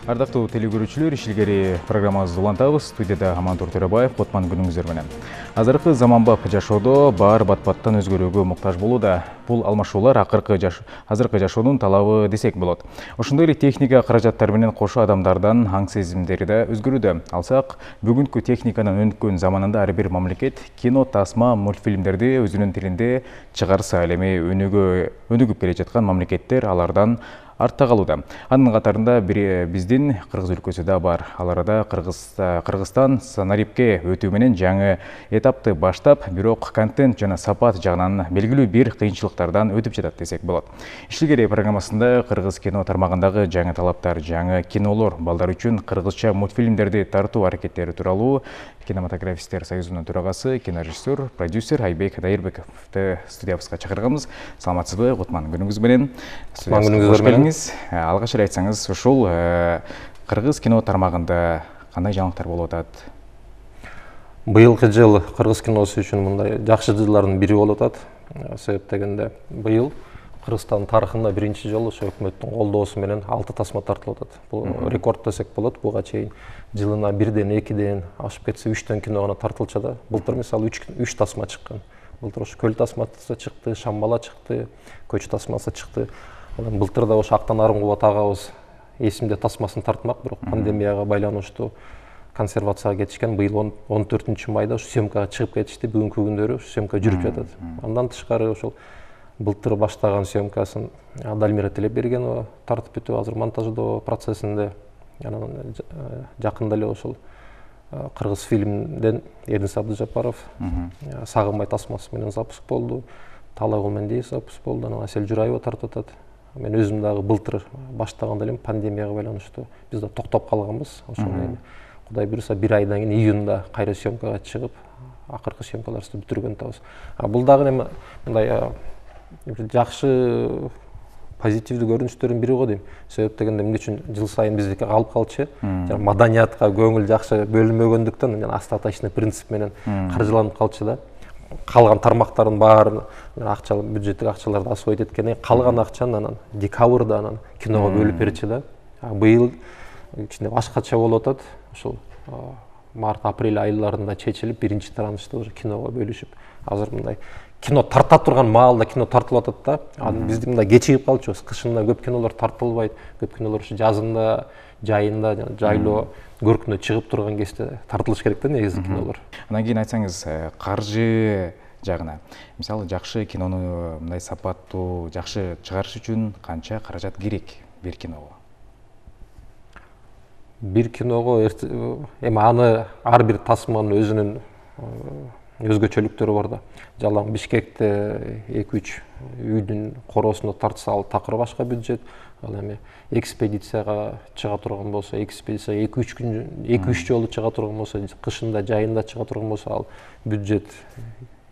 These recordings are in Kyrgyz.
Ардактуу телекөрүүчүлөр, ишилгери программабызды улантабыз. Студияда Амантур Төрөбаев, Котман күнүңүздөр менен. Азыркы заманбап жашоодо баары бат-баттан өзгөрүүгө муктаж болууда. Бул алмашуулар азыркы жашоонун талабы десек болот. Ошондой эле техника каражаттары менен кошо адамдардан аң сезимдери да өзгөрүүдө. Алсак, бүгүнкү техниканын өнүккөн заманында ар бир мамлекет кино, тасма, мультфильмдерди өзүнүн тилинде чыгарса, ал эми өнүгүп келе жаткан мамлекеттер алардан артта калууда. Анын катарында биздин Кыргыз өлкөсү да бар. Ал арада Кыргызстан санарипке өтүү менен жаңы этапты баштап, бирок контент жана сапат жагынан белгилүү бир кыйынчылыктардан өтүп жатат десек болот. Ишилгери программасында кыргыз кино тармагындагы жаңы талаптар, жаңы кинолор, балдар үчүн кыргызча мультфильмдерди тартуу аракеттери тууралуу Кинематографисттер союзунун төрагасы, кинорежиссер, продюсер Айбек Дайырбековду студиябызга чакырганбыз. Саламатсызбы, Котман күнүңүз менен. Күнүңүз менен. Алгач эле айтсаңыз, ушул кыргыз кино тармагында кандай жаңылыктар болуп атат? Быйылкы жыл кыргыз киносу үчүн мындай жакшы жылдардын бири болуп атат. Себеп дегенде быйыл Кыргызстан тарыхында биринчи жолу ошо өкмөттүн колдоосу менен 6 тасма тартылып атат. Бул рекорд десек болот. Буга чейин жылына 1ден 2ден ашып кетсе 3төн кино гана тартылчу да. Былтыр мисалы 3 тасма чыккан. Былтыр ошо көл тасмасы чыкты, Шамбала чыкты, Көч тасмасы чыкты. Былтыр да ошо Актан Арымкулов агабыз эсимде тасмасын тартмак, бирок пандемияга байланыштуу консервацияга кетишкен. Быйыл 14-майда ошо съемкага чыгып кетишти. Бүгүнкү күндөрү ошо съемка жүрүп жатат. Андан тышкары ошол былтыр баштаган съемкасын Дальмира Телебергенова тартып бүтүп, азыр монтаждоо процессинде. Анан жакында эле ошол кыргыз фильмден Эрдинис Абдыжапаров Сагынбай тасмасы менен запуск болду. Талайгул Мендиев запуск болду. Анан Асель Жураева тартып атат. Мен өзүм дагы былтыр баштаганда элем пандемияга байланыштуу биз да токтоп калганбыз. Ошондо эми Кудай буйруса 1 айдан кийин июнда кайра съемкага чыгып, акыркы съемкаларыбызды бүтүргөн атабыз. Бул дагы эми мындай жакшы позитивдүү көрүнүштөрдүн бири го дейм. Себеп дегенде эмне үчүн жыл сайын биздики калып калчу. Жана маданиятка көңүл жакшы бөлүнбөгөндүктөн остаточный принцип менен каржыланып калчу да. Калган тармактардын баарын акчалык бюджеттик акчаларды освоить эткенден кийин калган акчаны анан декабрда анан киного бөлүп берчү да. Быйыл кичине башкача болуп атат. Ошол март-апрель айларында чечилип, биринчи таранышта уже киного бөлүшүп, азыр мындай кино тарта турган маалда кино тартылып атат да. Бизди мындай кечигип калчубуз. Кышында көп кинолор тартылбайт. Көп кинолор ушу жазында, жайында, жайлоо көркүнө чыгып турган кезде тартылыш керек да негизи кинолор. Анан кийин айтсаңыз, каржы жагына. Мисалы, жакшы кинону мындай сапаттуу, жакшы чыгарыш үчүн канча каражат керек бир киного? Бир киного эми аны ар бир тасманын өзүнүн өзгөчөлүктөрү бар да. Жалаң Бишкекте 2-3 үйдүн короосунда тартса, ал такыр башка бюджет. Ал эми экспедицияга чыга турган болсо, экспедиция 2-3 күн, 2-3 жолу чыга турган болсо, кышында, жайында чыга турган болсо, ал бюджет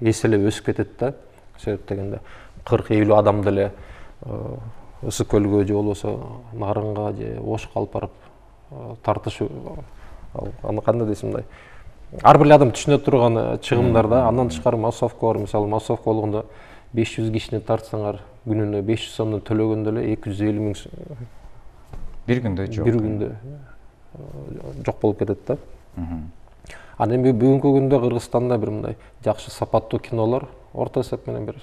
эселеп өсүп кетет да. Себеп дегенде 40-50 адамды эле Ысык көлгө же болбосо Нарынга же Ошко алып барып тартыш, аны кандай десем мындай ар бир адам түшүнө турган чыгымдар да. Андан тышкары массовка бар. Мисалы, массовка болгондо 500 кишини тартсаңар, күнүнө 500 сомдон төлөгөндө эле 250 миң бир күндө жок. Бир күндө жок болуп кетет да. Анан эми бүгүнкү күндө Кыргызстанда бир мындай жакшы сапаттуу кинолор орто эсеп менен бир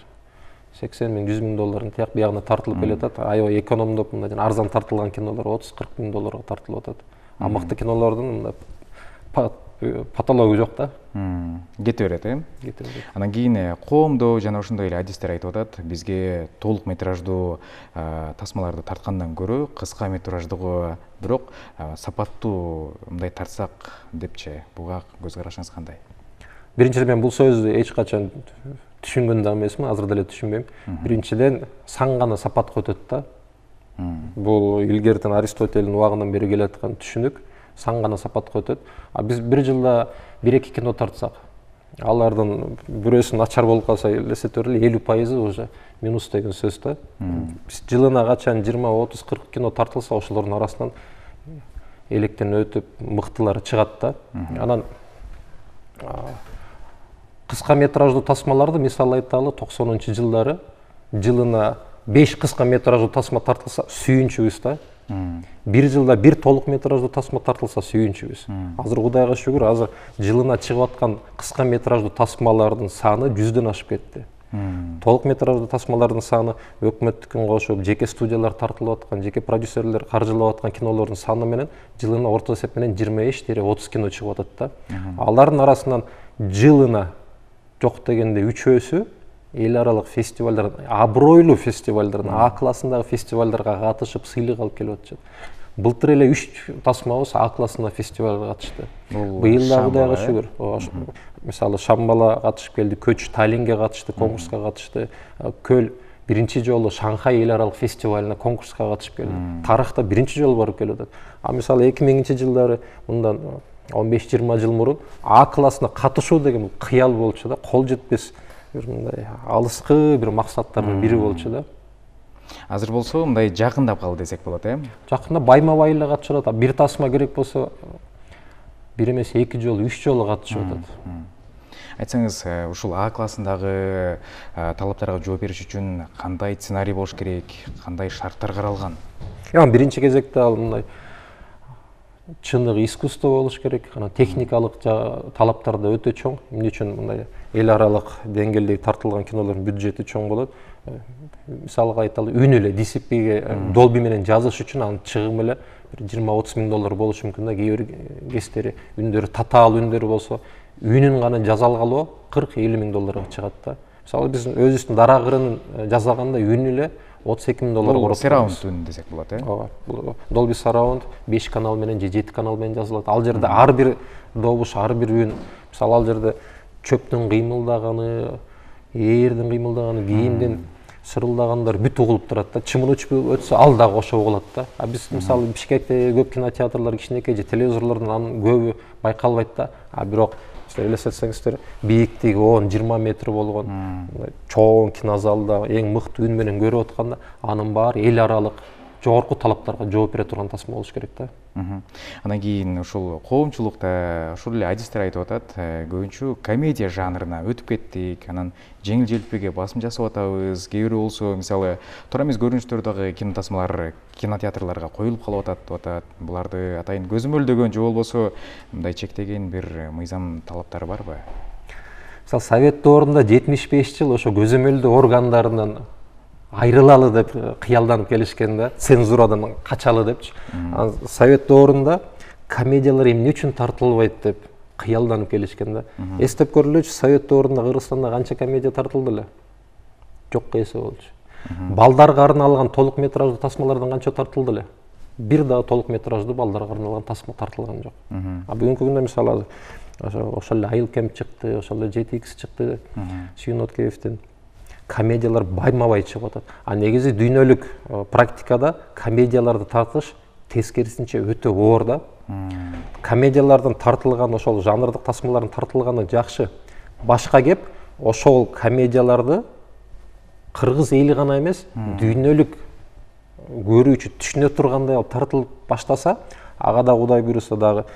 80 миң, 100 миң доллардын тияк биягына тартылып келет. Аябай экономдоп мындай арзан тартылган кинолор 30-40 миң долларга тартылып атат. А мыкты кинолордун мындай патология жок да. Кете берет, Кете берет. Анан кийин коомдо жана ошондой эле адистер айтып атат, бизге толук метраждуу тасмаларды тарткандан көрө кыска метраждыгы бирок сапаттуу мындай тартсак депчи. Буга көз карашыңыз кандай? Биринчиден мен бул сөздү эч качан түшүнгөн да эмесмин, азыр деле түшүнбөйм. Биринчиден сан гана сапатка өтөт да. Бул илгертен Аристотельдин убагынан бери келаткан түшүнүк. Сан гана сапатка өтөт. А биз бир жылда 1-2 кино тартсак, алардын бирөөсү начар болуп калса, эсептеп 50% уже минус деген сөз да. Биз жылына качан 20, 30, 40 кино тартылса, ошолордун арасынан электен өтүп, мыктылары чыгат да. Анан кыска метраждуу тасмаларды мисал айталы 90-жылдары жылына 5 кыска метраждуу тасма тартылса, сүйүнчүбүз да. Бир жылда бир толук метраждуу тасма тартылса сүйүнчүбүз. Азыр Кудайга шүгүр, азыр жылына чыгып аткан кыска метраждуу тасмалардын саны 100дөн ашып кетти. Толук метраждуу тасмалардын саны өкмөттүкүн кошуп, жеке студиялар тартылып аткан, жеке продюсерлер каржылап аткан кинолордун саны менен жылына орто эсеп менен 25-30 кино чыгып атат да. Алардын арасынан жылына жок дегенде 3-өсү эл аралык фестивалдар, абройлуу фестивалдар, А классындагы фестивалдарга катышып, сыйлык алып келип атышат. Былтыр эле 3 тасмабыз А классындагы фестивалга катышты. Быйыл да Кудайга шүгүр. Мисалы Шамбала катышып келди, Көч Таллинге катышты, конкурска катышты. Көл биринчи жолу Шанхай эл аралык фестивалына конкурска катышып келди. Тарыхта биринчи жолу барып келип атат. А мисалы 2000-жылдары мындан 15-20 жыл мурун А классына катышуу деген кыял болчу да, кол жетпес бир мындай алыскы бир максаттардын бири болчу да. Азыр болсо мындай жакындап калды десек болот, Жакында байма-бай эле катышат. Бир тасма керек болсо бир эмес 2 жолу, 3 жолу катышып атат. Айтсаңыз, ушул А классындагы талаптарга жооп бериш үчүн кандай сценарий болуш керек, кандай шарттар каралган? Биринчи кезекте ал мындай чыныгы искусство болуш керек, анан техникалык талаптар да өтө чоң. Эмне үчүн мындай эл аралык деңгээлдеги тартылган кинолордун бюджети чоң болот. Мисалга айталы, үн эле DCP-ге Dolby менен жазыш үчүн анын чыгымы эле $20-30 миң болушу мүмкүн да. Кээ бир кездери үндөрү татаал үндөрү болсо, үнүн гана жаза алгалоо $40-50 миң чыгат да. Мисалы биз өзүбүздүн Дара кырынын жасаганда үн эле $32 миң коротпойбуз. Surround үн десек болот, Ооба. Dolby Surround 5 канал менен же 7 канал менен жазылат. Ал жерде ар бир добуш, ар бир үн, мисалы ал жерде чөптүн кыймылдаганы, ээрдин кыймылдаганы, кийимдин шырылдагандар бүт угулуп турат да. Чымын учуп өтсө ал дагы ошо угулат да. Биз мисалы Бишкекте көп кинотеатрлар кичинекей же телевизорлордун анын көбү байкалбайт да. Бирок силер элестетсеңиздер, бийиктиги 10-20 метр болгон чоң кинозалда эң мыкты үн менен көрүп атканда, анын баары эл аралык жогорку талаптарга жооп бере турган тасма болуш керек да. Андан кийин ушул коомчулукта ушул эле адистер айтып атат, көбүнчө комедия жанрына өтүп кеттик, анан жеңил желпиге басым жасап атабыз. Кээ бирөө болсо, мисалы, туура эмес көрүнүштөрдөгү кино тасмалар кинотеатрларга коюлуп калып атат. Буларды атайын көзөмөлдөгөн же болбосо мындай чектеген бир мыйзам талаптары барбы? Мисалы Совет доорунда 75 жыл ошо көзөмөлдөө органдарынан айрылалы деп кыялданып келишкен да, цензурадан качалы депчи. Совет доорунда комедиялар эмне үчүн тартылбайт деп кыялданып келишкен да. Эстеп көрүлөчү, Совет доорунда Кыргызстанда канча комедия тартылды эле? Жокко эсе болчу. Балдарга арналган толук метраждуу тасмалардан канча тартылды эле? Бир дагы толук метраждуу балдарга арналган тасма тартылган жок. Бүгүнкү күндө мисалы ошол эле Айыл Кемп чыкты, ошол эле 7X чыкты, Сүйүн Откеевдин комедиялар байма-бай чыгып атат. Негизи дүйнөлүк практикада комедияларды тартыш тескерисинче өтө оор да. Комедиялардын тартылган, ошол жанрдык тасмалардын тартылганы жакшы. Башка кеп, ошол комедияларды кыргыз эли гана эмес, дүйнөлүк көрүүчү түшүнө тургандай алып тартылып баштаса, ага да Кудай буйруса дагы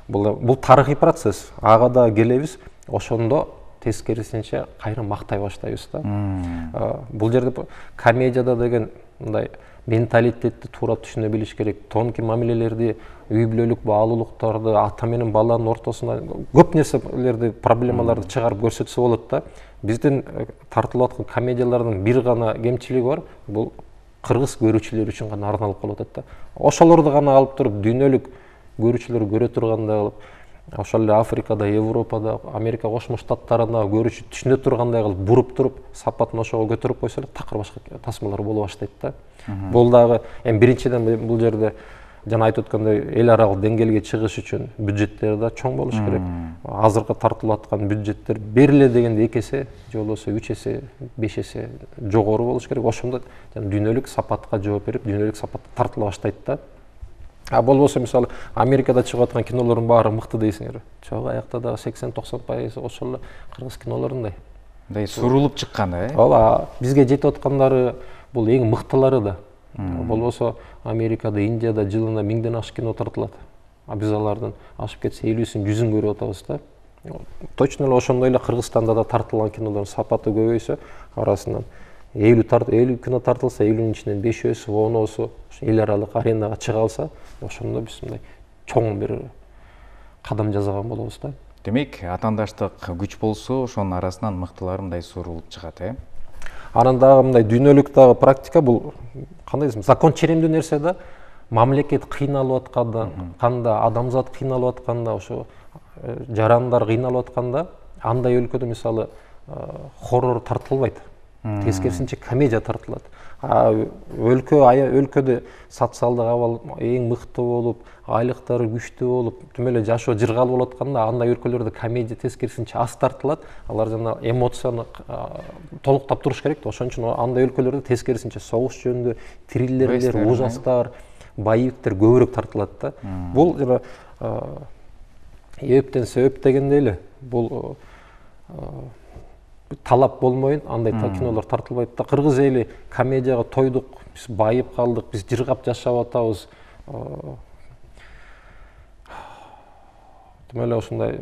бул тарыхый процесс. Ага да келебиз, ошондо тескерисинче кайра мактай баштайбыз да. Бул жерде комедияда деген мындай менталитетти туура түшүнө билиш керек. Тонкий мамилелерди, үй бүлөлүк баалуулуктарды, ата менен баланын ортосуна көп нерселерди, проблемаларды чыгарып көрсөтсө болот да. Биздин тартылып аткан комедиялардын бир гана кемчилиги бар, бул кыргыз көрүүчүлөр үчүн гана арналып калып атат да. Ошолорду гана алып туруп дүйнөлүк көрүүчүлөр көрө тургандай кылып, ошол эле Африкада, Европада, Америка Кошмо Штаттарында көрүүчү түшүнө тургандай кылып буруп туруп, сапатын ошого көтөрүп койсо эле такыр башка тасмалар боло баштайт да. Бул дагы биринчиден бул жерде жана айтып өткөндөй эл аралык деңгээлге чыгыш үчүн бюджеттер да чоң болуш керек. Азыркы тартылып аткан бюджеттер бериле дегенде 2 эсе, же болбосо 3 эсе, 5 эсе жогору болуш керек. Ошондо дүйнөлүк сапатка жооп берип, дүйнөлүк сапатта тартыла баштайт да. Болбосо мисалы Америкада чыгып аткан кинолордун баары мыкты дейсиңер. Жок, аякта дагы 80-90% ошол эле кыргыз кинолорундай. Мындай сурулуп чыккан, Ооба, бизге жетип аткандары бул эң мыктылары да. Болбосо Америкада, Индияда жылына 1000ден ашык кино тартылат. Биз алардын ашып кетсе 50-син, 100-ün көрүп атабыз да. Точно эле ошондой эле Кыргызстанда да тартылган кинолордун сапаты көбөйсө, арасынан 50 кино тартылса, 50-нин ичинен 5-өсү, 10-осу эл аралык аренага чыга алса, ошондо биз мындай чоң бир кадам жасаган болобуз да. Демек, атаандаштык күч болсо, ошонун арасынан мыктылар мындай сурулуп чыгат, Анан дагы мындай дүйнөлүк дагы практика, бул кандай десем, закон черемдүү нерсе да. Мамлекет кыйналып атканда, канда адамзат кыйналып атканда, ошо жарандар кыйналып атканда, андай өлкөдө мисалы хоррор тартылбайт. Тескерисинче комедия тартылат. Өлкөдө социалдык абал эң мыкты болуп, айлыктары күчтүү болуп, тим эле жашоо жыргалуу болуп атканда, андай өлкөлөрдө комедия тескерисинче аз тартылат. Алар жана эмоцияны толуктап туруш керек да. Ошон үчүн андай өлкөлөрдө тескерисинче согуш жөнүндө триллерлер, ужастар, боевиктер көбүрөөк тартылат да. Бул жана эптен себеп дегенде эле бул талап болмойын, андай кинолор тартылбайт да. Кыргыз эли комедияга тойдук, биз байып калдык, биз жыргап жашап атабыз. Тим эле ушундай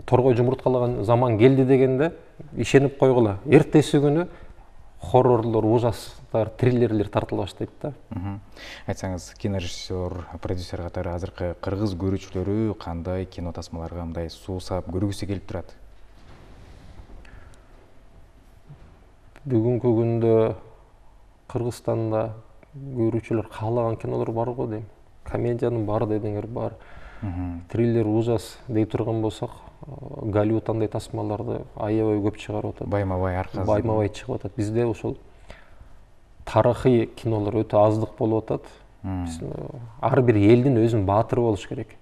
торгой жумурткалаган заман келди дегенде ишенип койгула. Эртеси күнү хоррорлор, ужастар, триллерлер тартыла баштайт да. Айтсаңыз, кинорежиссер, продюсер катары азыркы кыргыз көрүүчүлөрү кандай кино тасмаларга мындай суусап көргүсү келип турат? Бүгүнкү күндө Кыргызстанда көрүүчүлөр каалаган кинолор бар го дейм. Комедиянын бар дедиңер бар. Триллер, ужас дей турган болсок, Голливуд андай тасмаларды аябай көп чыгарып атат. Байма-бай аркасы. Байма-бай чыгып атат. Бизде ошол тарыхый кинолор өтө аздык болуп атат. Ар бир элдин өзүнүн баатыры болуш керек.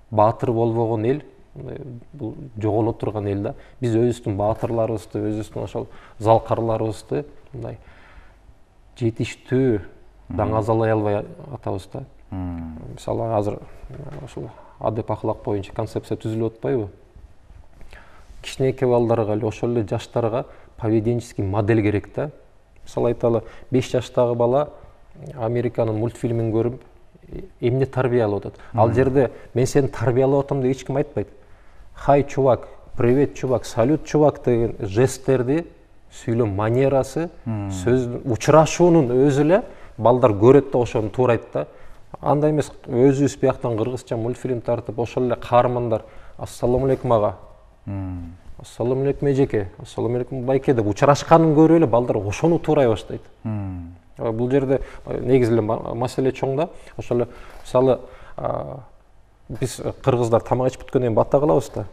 Баатыр болбогон эл бул жоголо турган эл да. Биз өзүбүздүн баатырларыбызды, өзүбүздүн ошол залкарларыбызды мындай жетиштүү даңазалай албай атабыз да. Мисалы азыр ошол адеп ахлак боюнча концепция түзүлүп атпайбы? Кичинекей балдарга эле, ошол эле жаштарга поведенческий модель керек да. Мисалы айталы, 5 жаштагы бала Американын мультфильмин көрүп, эмне тарбия алып атат. Ал жерде мен сени тарбиялап атам деп эч ким айтпайт. Хай, чувак, привет, чувак, салют, чувак деген жесттерди, сүйлөм манерасы, сөздүн учурашуунун өзү эле балдар көрөт да ошону туурайт да. Андай эмес, өзүбүз бияктан кыргызча мультфильм тартып, ошол эле каармандар ассаламу алейкум ага, ассаламу алейкум эжеке, ассаламу алейкум байке деп учурашканын көрүп эле балдар ошону туурай баштайт. Бул жерде негизи эле маселе чоң да. Ошол эле мисалы биз кыргыздар тамак ичип бүткөндөн кийин бата кылабыз да.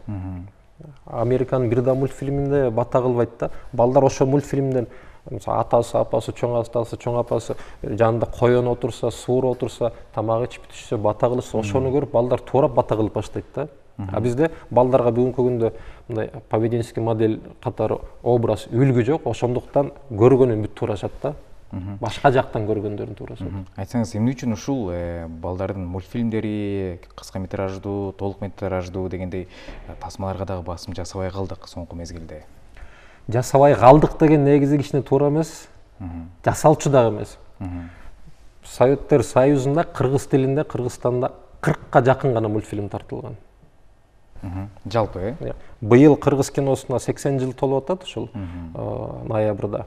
Американын бир да мультфильминде бата кылбайт да. Балдар ошол мультфильмден атасы, апасы, чоң атасы, чоң апасы жанында коен отурса, суур отурса, тамак ичип бүтүшсө, бата кылышса, ошону көрүп балдар туурап бата кылып баштайт да. А бизде балдарга бүгүнкү күндө мындай поведенческий модель катары образ, үлгү жок, ошондуктан көргөнүн бүт туурашат да. Башка жактан көргөндөрүн туурашат. Айтсаңыз, эмне үчүн ушул балдардын мультфильмдери кыска метраждуу, толук метраждуу дегендей тасмаларга дагы басым жасабай калдык соңку мезгилде? Жасабай калдык деген негизи кичине туура эмес. Жасалчу дагы эмес. Советтер Союзунда кыргыз тилинде Кыргызстанда 40ка жакын гана мультфильм тартылган. Жалпы, Быйыл кыргыз киносуна 80 жыл толуп атат ушул ноябрда.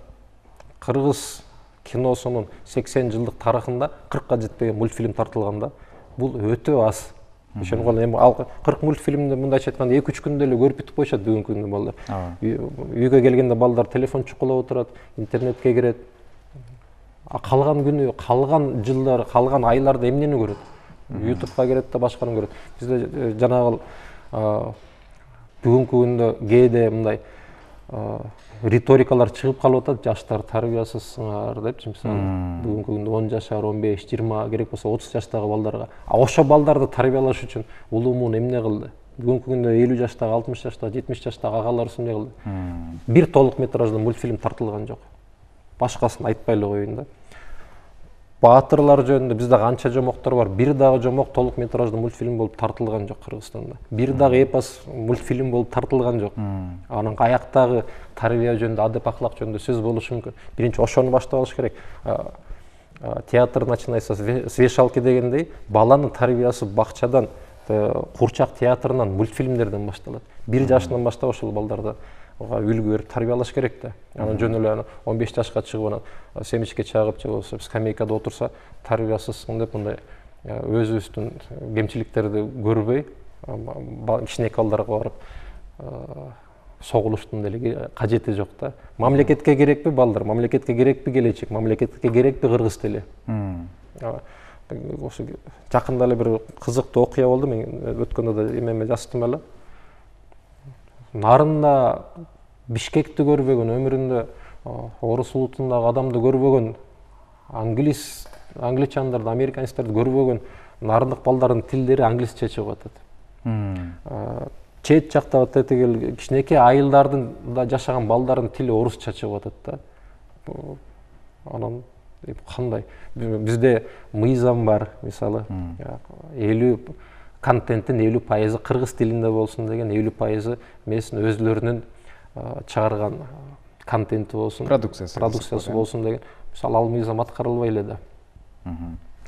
Кыргыз киносунун 80 жылдык тарыхында 40ка жетпеген мультфильм тартылган да. Бул өтө аз. Ошонгон эми ал 40 мультфильмди мындайча айтканда 2-3 күндө эле көрүп бүтүп коюшат бүгүнкү күндө балдар. Үйгө келгенде балдар телефон чукулап отурат, интернетке кирет. Калган күнү, калган жылдар, калган айларда эмнени көрөт? YouTubeга кирет да башканы көрөт. Бизде жанагы бүгүнкү күндө кээде мындай риторикалар чыгып калып атат, жаштар тарбиясызсыңар депчи, мисалы. Бүгүнкү күндө 10 жашар, 15, 20, керек болсо 30 жаштагы балдарга. Ошо балдарды тарбиялаш үчүн улуумун эмне кылды? Бүгүнкү күндө 50 жаштагы, 60 жаштагы, 70 жаштагы агаларыбыз эмне кылды? Бир толук метраждуу мультфильм тартылган жок. Башкасын айтпай эле коеюн да. Баатырлар жөнүндө бизде канча жомоктор бар, бир дагы жомок толук метраждуу мультфильм болуп тартылган жок Кыргызстанда. Бир дагы эпос мультфильм болуп тартылган жок. Анын аяктагы тарбия жөнүндө, адеп ахлак жөнүндө сөз болушу мүмкүн. Биринчи ошону баштап алыш керек. Театр начинается с вешалки дегендей, баланын тарбиясы бакчадан, курчак театрынан, мультфильмдерден башталат. 1 жашынан баштап ошол балдарды үлгү берип тарбиялаш керек да. Анан жөн эле 15 жашка чыгып анан семечке чагып же болбосо скамейкада отурса тарбиясызсың деп мындай өзүбүздүн кемчиликтерди көрбөй кичинекей балдарга барып согулуштун деле кажети жок да. Мамлекетке керекпи балдар, мамлекетке керекпи келечек, мамлекетке керекпи кыргыз тили. Ошо жакында эле бир кызыктуу окуя болду, мен өткөндө да эмеме жаздым эле. Нарында Бишкекти көрбөгөн, өмүрүндө орус улутундагы адамды көрбөгөн, англичандарды, американецтерди көрбөгөн нарындык балдардын тилдери англисче чыгып атат. Чет жакта тетигил кичинекей айылдардын да жашаган балдардын тили орусча чыгып атат да. Анан кандай? Бизде мыйзам бар, мисалы, 50 контенттин 50% кыргыз тилинде болсун деген, 50% мээсин өзлөрүнүн чыгарган контенти болсун, продукциясы болсун деген. Мисалы, ал мыйзам аткарылбай эле да.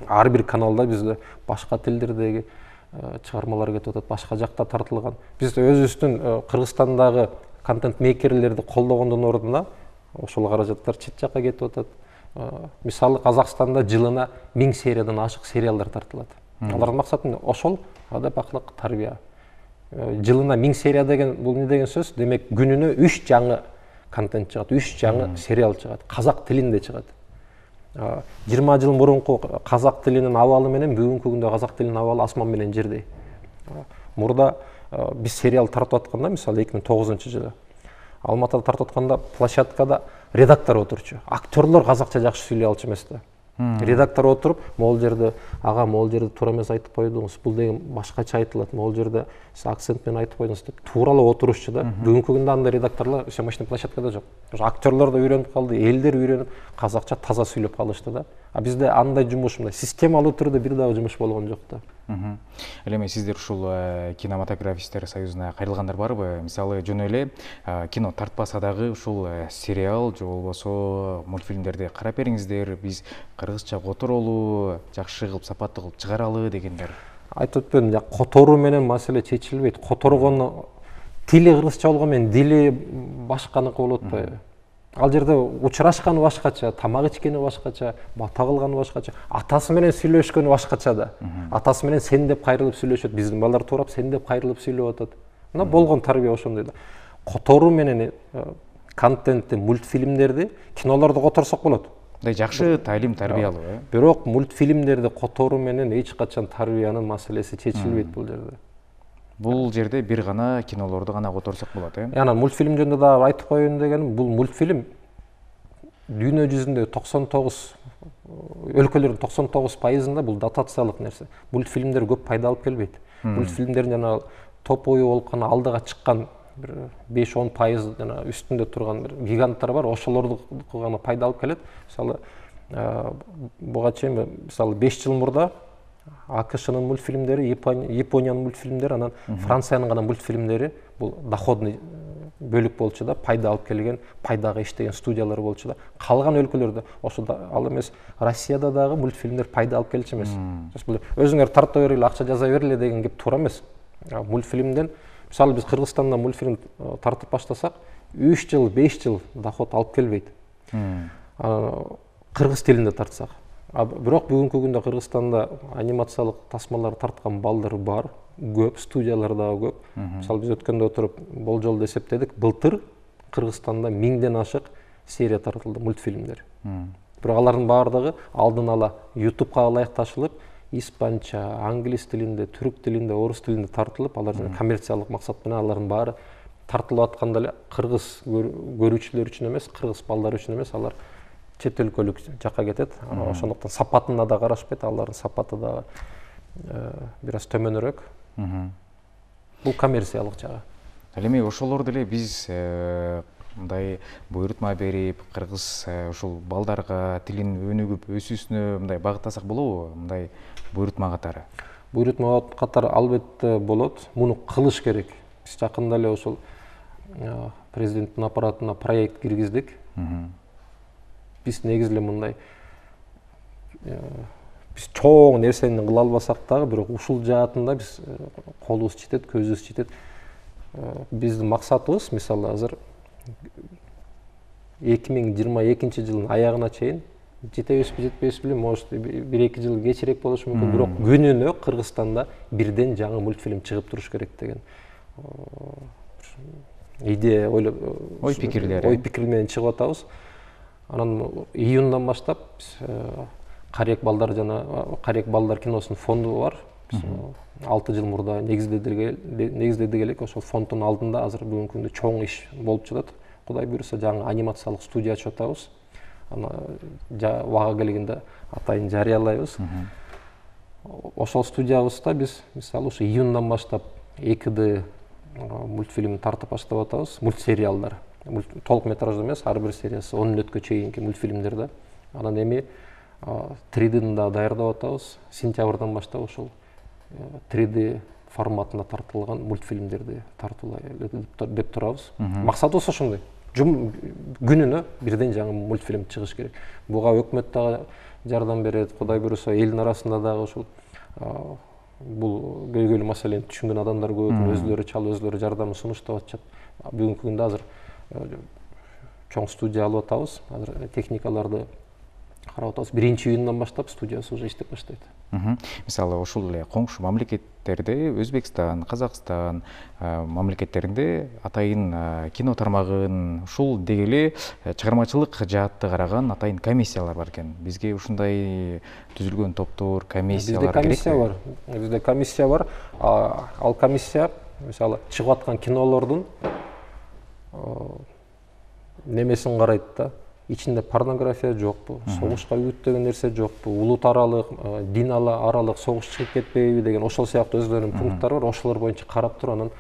Ар бир каналда бизде башка тилдердеги чыгармалар кетип атат, башка жакта тартылган. Биз өзүбүздүн Кыргызстандагы контент мейкерлерди колдогондун ордуна ошол каражаттар чет жакка кетип атат. Мисалы, Казакстанда жылына 1000 сериядан ашык сериалдар тартылат. Алардын максаты ошол адап-акылык тарбия. Жылына 1000 серия деген бул эмне деген сөз? Демек, күнүнө 3 жаңы контент чыгат, 3 жаңы сериал чыгат, казак тилинде чыгат. 20 жыл мурунку казак тилинин абалы менен бүгүнкү күндө казак тилинин абалы асман менен жердей. Мурда биз сериал тартып атканда, мисалы 2009-жылы Алматыда тартып атканда площадкада редактор отурчу. Актерлор казакча жакшы сүйлөй алчу эмес да. Редактор отуруп, могул жерде ага, могул жерде туура эмес айтып койдуңуз, бул деген башкача айтылат, могул жерде сиз акцент менен айтып койдуңуз деп тууралап отурушчу да. Бүгүнкү күндө андай редакторлор съемочный площадкада жок. Актерлор да үйрөнүп калды, элдер үйрөнүп казакча таза сүйлөп калышты да. А бизде андай жумуш, мындай системалуу түрдө бир дагы жумуш болгон жок да. Ал эми сиздер ушул кинематографисттер союзуна кайрылгандар барбы? Мисалы, жөн эле кино тартпаса дагы ушул сериал же болбосо мультфильмдерди карап бериңиздер, биз кыргызча которолу, жакшы кылып, сапаттуу кылып чыгаралы дегендер. Айтып өтпөдүм, которуу менен маселе чечилбейт. Которгону тили кыргызча болгон менен дили башканыкы болуп атпайбы? Ал жерде учурашканы башкача, тамак ичкени башкача, бата кылганы башкача, атасы менен сүйлөшкөнү башкача да. Атасы менен сен деп кайрылып сүйлөшөт, биздин балдар туурап сен деп кайрылып сүйлөп атат. Мына болгон тарбия ошондой да. Которуу менен контентти, мультфильмдерди, кинолорду которсок болот. Жакшы таалим, тарбиялуу, Бирок мультфильмдерди которуу менен эч качан тарбиянын маселеси чечилбейт бул жерде. Бул жерде бир гана кинолорду гана которсок болот, Анан мультфильм жөнүндө да айтып коеюн дегеним, бул мультфильм дүйнө жүзүндө 99 өлкөлөрдүн 99%-ында бул дотациялык нерсе. Мультфильмдер көп пайда алып келбейт. Мультфильмдердин жана топовой болуп кана алдыга чыккан бир 5-10% жана үстүндө турган бир гиганттар бар, ошолорду гана пайда алып келет. Мисалы, буга чейин мисалы 5 жыл мурда АКШнын мультфильмдери, Япониянын мультфильмдери, анан Франциянын гана мультфильмдери бул доходный бөлүк болчу да, пайда алып келген, пайдага иштеген студиялар болчу да. Калган өлкөлөрдө ошо ал эмес, Россияда дагы мультфильмдер пайда алып келчү эмес. Өзүңөр тарта бергиле, акча жаза бергиле деген кеп туура эмес. Мультфильмден, мисалы биз Кыргызстанда мультфильм тартып баштасак, 3 жыл, 5 жыл доход алып келбейт. Кыргыз тилинде тартсак. Бирок бүгүнкү күндө Кыргызстанда анимациялык тасмалар тарткан балдар бар, көп, студиялар дагы көп. Мисалы биз өткөндө отуруп болжолду эсептедик, былтыр Кыргызстанда 1000ден ашык серия тартылды, мультфильмдер. Бирок алардын баардыгы алдын ала YouTubeга ылайыкташылып, испанча, англис тилинде, түрк тилинде, орус тилинде тартылып, алар коммерциялык максат менен алардын баары тартылып атканда эле кыргыз көрүүчүлөр үчүн эмес, кыргыз балдар үчүн эмес, алар чет өлкөлүк жакка кетет. Ошондуктан сапатына да карашпайт, алардын сапаты да бир аз төмөнүрөөк. Бул коммерциялык жагы. Ал эми ошолор деле биз мындай буйрутма берип, кыргыз ушул балдарга тилин өнүгүп өсүүсүнө мындай багыттасак болобу? Мындай буйрутма катары. Буйрутма катары албетте болот. Муну кылыш керек. Биз жакында эле ошол президенттин аппаратына проект киргиздик. Биз негизи эле мындай биз чоң нерсени кыла албасак дагы, бирок ушул жаатында биз колубуз жетет, көзүбүз жетет. Биздин максатыбыз, мисалы азыр 2022 жылдын аягына чейин жетебизби жетпейбиз билбейм, может 1-2 жыл кечирээк болушу мүмкүн, бирок күнүнө Кыргызстанда бирден жаңы мультфильм чыгып туруш керек деген идея, ой пикир менен чыгып атабыз. Анан июндан баштап Карек балдар киносунун фонду бар. 6 жыл мурда негиздедик элек. Ошол фонддун алдында азыр бүгүнкү күндө чоң иш болуп жатат. Кудай буйруса жаңы анимациялык студия ачып атабыз. Аны убага келгенде атайын жарыялайбыз. Ошол студиябызда биз мисалы ушу июндан баштап 2D мультфильм тартып баштап атабыз. Мультсериалдар. Толук метраждуу эмес, ар бир сериясы 10 мүнөткө чейинки мультфильмдер да. Анан эми 3D'ни да даярдап атабыз. Сентябрдан баштап ошол 3D форматында тартылган мультфильмдерди тартуулай деп турабыз. Максатыбыз ошондой. Күнүнө бирден жаңы мультфильм чыгыш керек. Буга өкмөт дагы жардам берет, Кудай буйруса элдин арасында дагы ошол бул көйгөйлүү маселени түшүнгөн адамдар көп, өзлөрү чалып, өзлөрү жардамын сунуштап атышат. Бүгүнкү күндө азыр чоң студия алып атабыз. Азыр техникаларды карап атабыз. 1-июндан баштап студиясы уже иштеп баштайт. Мисалы ушул эле коңшу мамлекеттерде, Өзбекстан, Казакстан мамлекеттеринде атайын кино тармагын ушул дегеле чыгармачылык жаатты караган атайын комиссиялар бар экен. Бизге ушундай түзүлгөн топтор, комиссиялар керек. Бизде комиссия бар. Ал комиссия мисалы чыгып аткан кинолордун немесин карайт да. Ичинде порнография жокпу, согушка үгүттөгөн нерсе жокпу, улут аралык, дин аралык согуш чыгып кетпейби деген ошол сыяктуу өздөрүнүн пункттары бар. Ошолор боюнча карап туруп анан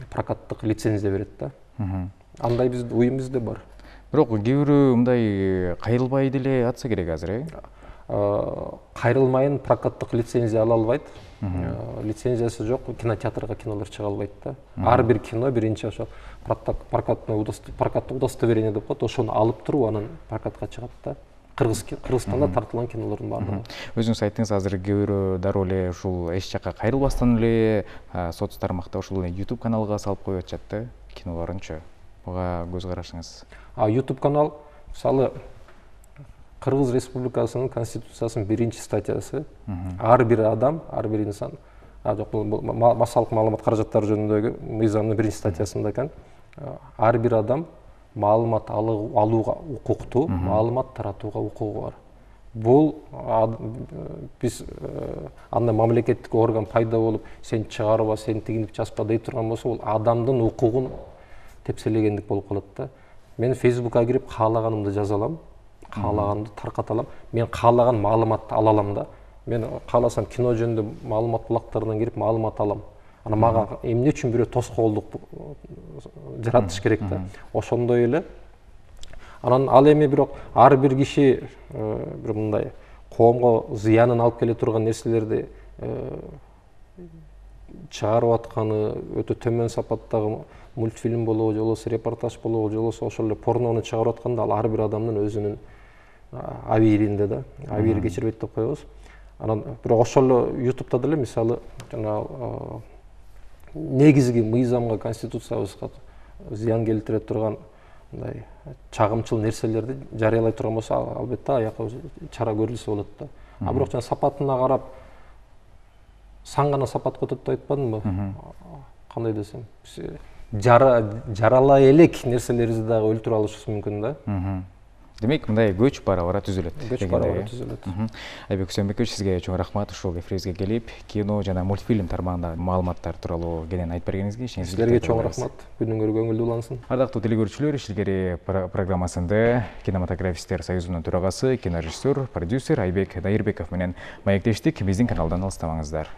прокаттык лицензия берет да. Андай биздин уюм бизде бар. Бирок кээ бирөө мындай кайрылбай деле атса керек азыр, Кайрылмайын прокаттык лицензия ала албайт. Лицензиясы жок, кинотеатрга кинолор чыга албайт да. Ар бир кино биринчи ошо прокаттык удостоверение деп коет, ошону алып туруп анан прокатка чыгат да. Кыргызстанда тартылган кинолордун баардыгы. Өзүңүз айттыңыз, азыр кээ бирөө дароо эле ушул эч жакка кайрылбастан эле соц тармакта ушул YouTube каналга салып коюп атышат да кинолорунчу. Буга көз карашыңыз? YouTube канал мисалы Кыргыз Республикасынын Конституциясынын 1-чи статьясы ар бир адам, ар бир инсан, жок бул массалык маалымат каражаттары жөнүндөгү мыйзамдын 1-чи статьясында экен. Ар бир адам маалымат алууга укуктуу, маалымат таратууга укугу бар. Бул биз андай мамлекеттик орган пайда болуп, сен чыгарба, сен тигинип жазба дей турган болсо, бул адамдын укугун тепселегендик болуп калат да. Мен Facebook'a кирип каалаганымды жаза алам, каалаганымды тарката алам. Мен каалаган маалыматты ала алам да. Мен кааласам кино жөнүндө маалымат булактарынан кирип маалымат алам. Ана мага эмне үчүн бирөө тоскоолдук жаратыш керек да. Ошондой эле. Анан ал эми бирок ар бир киши бир мындай коомго зыянын алып келе турган нерселерди чыгарып атканы, өтө төмөн сапаттагы мультфильм болобу, же болбосо репортаж болобу, же болбосо ошол эле порнону чыгарып атканда ал ар бир адамдын өзүнүн абийиринде да. Абийир кечирбейт деп коебуз. Анан бирок ошол эле YouTube'да деле мисалы жана негизги мыйзамга, конституциябызга зыян келтире турган мындай чагымчыл нерселерди жарыялай турган болсо, албетте аяка чара көрүлсө болот да. Бирок жана сапатына карап сан гана сапат көтөт деп айтпадымбы? Кандай десем, жаралай элек нерселерибизди дагы өлтүрүп алышыбыз мүмкүн да. Демек, мындай көч бара-бара түзүлөт. Көч бара-бара түзүлөт. Айбек Үсөнбекович, сизге чоң рахмат ушул эфирибизге келип, кино жана мультфильм тармагындагы маалыматтар тууралуу кенен айтып бергениңизге. Силерге чоң рахмат. Күнүңөр көңүлдүү улансын. Ардактуу телекөрүүчүлөр, Ишилгери программасында кинематографисттер союзунун төрагасы, кинорежиссер, продюсер Айбек Дайырбеков менен маектештик. Биздин каналдан алыстабаңыздар.